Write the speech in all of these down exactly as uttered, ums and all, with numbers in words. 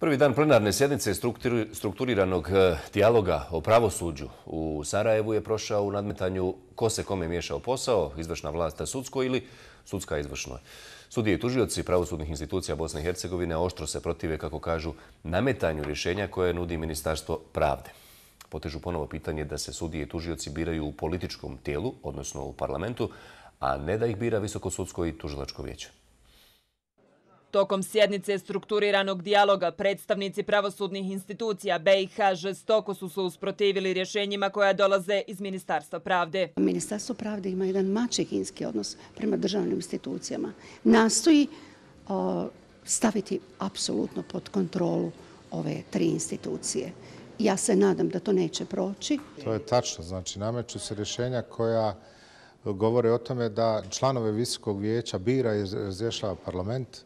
Prvi dan plenarne sjednice strukturiranog dijaloga o pravosuđu u Sarajevu je prošao u nadmetanju ko se kome miješao posao, izvršna vlast sudsko ili sudska izvršnoj. Sudije i tužioci pravosudnih institucija Bosne i Hercegovine oštro se protive, kako kažu, nametanju rješenja koje nudi Ministarstvo pravde. Potežu ponovo pitanje da se sudije i tužioci biraju u političkom tijelu, odnosno u parlamentu, a ne da ih bira Visokosudsko i tužilačko vijeće. Tokom sjednice strukturiranog dijaloga predstavnici pravosudnih institucija B i H žestoko su se usprotivili rješenjima koja dolaze iz Ministarstva pravde. Ministarstvo pravde ima jedan maćehinski odnos prema državnim institucijama. Nastoji o, staviti apsolutno pod kontrolu ove tri institucije. Ja se nadam da to neće proći. To je tačno. Znači, nameću se rješenja koja govore o tome da članove Visokog vijeća bira i razrješava parlament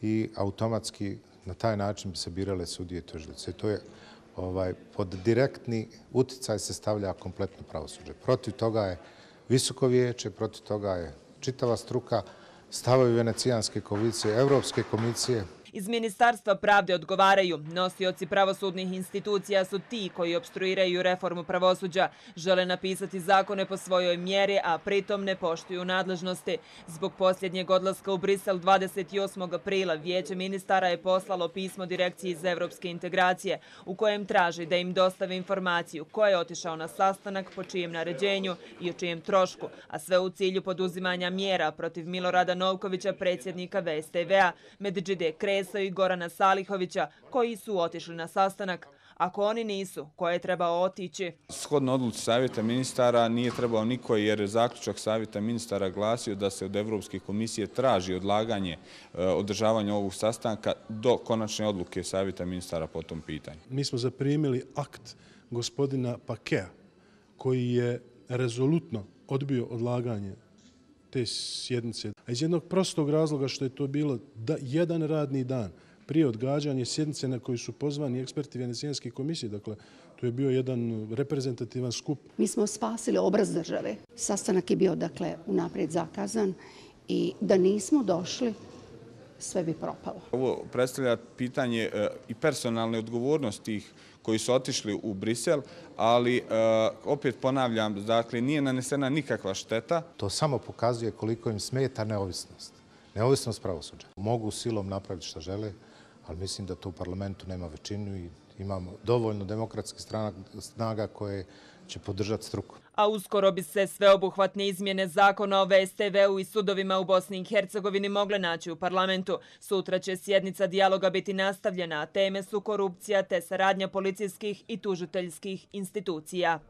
i automatski na taj način bi se birale sudije i tužioci. To je ovaj, pod direktni utjecaj se stavlja kompletno pravosuđe. Protiv toga je Visoko vijeće, protiv toga je čitava struka, stavovi Venecijanske komisije, Europske komisije. Iz Ministarstva pravde odgovaraju: nosioci pravosudnih institucija su ti koji opstruiraju reformu pravosuđa, žele napisati zakone po svojoj mjeri, a pritom ne poštuju nadležnosti. Zbog posljednjeg odlaska u Brisel dvadeset osmog aprila Vijeće ministara je poslalo pismo Direkciji za evropske integracije u kojem traži da im dostave informaciju ko je otišao na sastanak, po čijem naređenju i o čijem trošku, a sve u cilju poduzimanja mjera protiv Milorada Novkovića, predsjednika V S T V-a, Medžide Kresa i Gorana Salihovića, koji su otišli na sastanak. Ako oni nisu, ko je trebao otići? Shodno odluci Savjeta ministara nije trebao niko, jer zaključak Savjeta ministara glasio da se od Evropske komisije traži odlaganje održavanja ovog sastanka do konačne odluke Savjeta ministara po tom pitanju. Mi smo zaprimili akt gospodina Pakea koji je rezolutno odbio odlaganje te sjednice. A iz jednog prostog razloga što je to bilo da, jedan radni dan prije odgađanja sjednice na koju su pozvani eksperti Venecijanske komisije. Dakle, to je bio jedan reprezentativan skup. Mi smo spasili obraz države. Sastanak je bio, dakle, unaprijed zakazan i da nismo došli, sve bi propalo. Ovo predstavlja pitanje e, i personalne odgovornosti tih koji su otišli u Brisel, ali e, opet ponavljam, dakle, nije nanesena nikakva šteta. To samo pokazuje koliko im smeta neovisnost. Neovisnost pravosuđa. Mogu silom napraviti što žele, ali mislim da to u parlamentu nema većinu i imamo dovoljno demokratskih snaga koje će podržati struku. A uskoro bi se sveobuhvatne izmjene zakona o V S T V-u i sudovima u Bosni i Hercegovini mogle naći u parlamentu. Sutra će sjednica dijaloga biti nastavljena, a teme su korupcija te saradnja policijskih i tužiteljskih institucija.